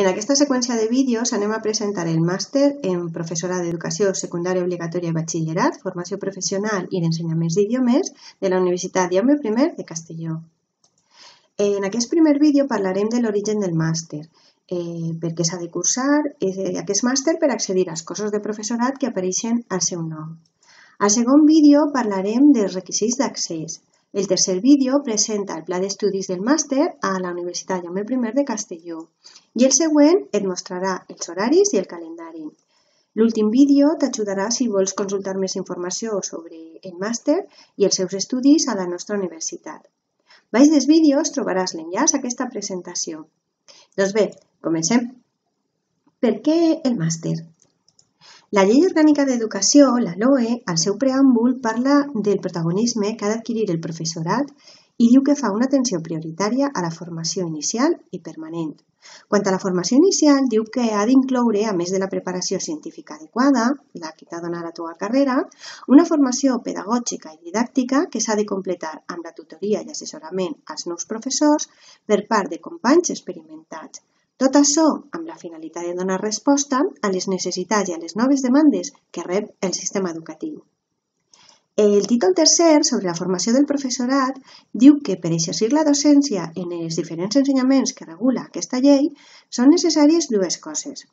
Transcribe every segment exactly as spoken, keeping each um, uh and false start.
En aquesta seqüència de vídeos anem a presentar el màster en Professorat d'Educació Secundària Obligatòria i Batxillerat, Formació Professional i d'Ensenyaments d'Idiomes de la Universitat Jaume I de Castelló. En aquest primer vídeo parlarem de l'origen del màster, eh, per què s'ha de cursar eh, aquest màster per accedir als cossos de professorat que apareixen al seu nom. Al segon vídeo parlarem dels requisits d'accés. El tercer vídeo presenta el pla d'estudis del màster a la Universitat Jaume I de Castelló i el següent et mostrarà els horaris i el calendari. L'últim vídeo t'ajudarà si vols consultar més informació sobre el màster i els seus estudis a la nostra universitat. Baix dels vídeos trobaràs l'enllaç a aquesta presentació. Doncs bé, comencem. Per què el màster? La Llei Orgànica d'Educació, la L O E, al seu preàmbul parla del protagonisme que ha d'adquirir el professorat i diu que fa una atenció prioritària a la formació inicial i permanent. Quant a la formació inicial, diu que ha d'incloure, a més de la preparació científica adequada, la que t'ha donat la teva carrera, una formació pedagògica i didàctica que s'ha de completar amb la tutoria i assessorament als nous professors per part de companys experimentats. Tot això amb la finalitat de donar resposta a les necessitats i a les noves demandes que rep el sistema educatiu. El títol tercer sobre la formació del professorat diu que per exercir la docència en els diferents ensenyaments que regula aquesta llei són necessàries dues coses.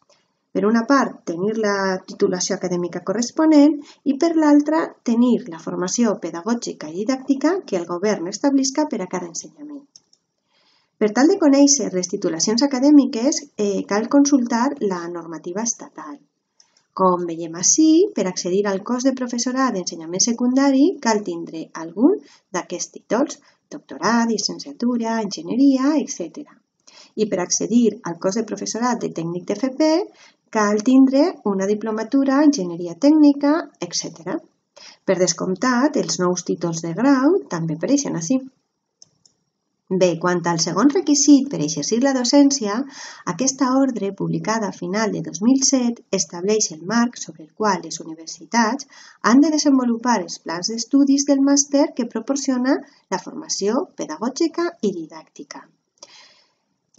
Per una part, tenir la titulació acadèmica corresponent i per l'altra, tenir la formació pedagògica i didàctica que el govern establisca per a cada ensenyament. Per tal de conèixer les titulacions acadèmiques, eh, cal consultar la normativa estatal. Com veiem ací, per accedir al cos de professorat d'ensenyament secundari cal tindre algun d'aquests títols, doctorat, llicenciatura, enginyeria, etcètera. I per accedir al cos de professorat de tècnic d'F P cal tindre una diplomatura, enginyeria tècnica, etcètera. Per descomptat, els nous títols de grau també apareixen ací. Bé, quant al segon requisit per exercir la docència, aquesta ordre, publicada a final de dos mil set, estableix el marc sobre el qual les universitats han de desenvolupar els plans d'estudis del màster que proporciona la formació pedagògica i didàctica.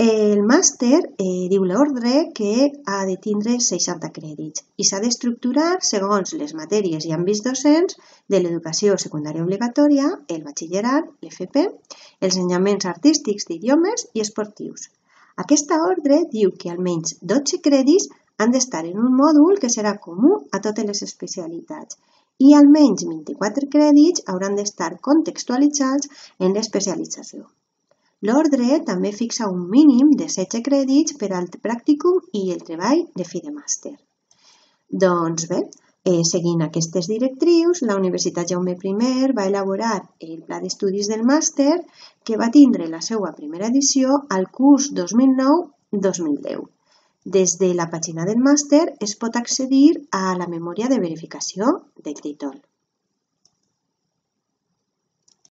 El màster eh, diu l'ordre que ha de tindre seixanta crèdits i s'ha d'estructurar segons les matèries i àmbits docents de l'educació secundària obligatòria, el batxillerat, l'F P, els ensenyaments artístics d'idiomes i esportius. Aquesta ordre diu que almenys dotze crèdits han d'estar en un mòdul que serà comú a totes les especialitats i almenys vint-i-quatre crèdits hauran d'estar contextualitzats en l'especialització. L'ordre també fixa un mínim de setze crèdits per al pràcticum i el treball de fi de màster. Doncs bé, eh, seguint aquestes directrius, la Universitat Jaume I va elaborar el pla d'estudis del màster que va tindre la seva primera edició al curs dos mil nou dos mil deu. Des de la pàgina del màster es pot accedir a la memòria de verificació del títol.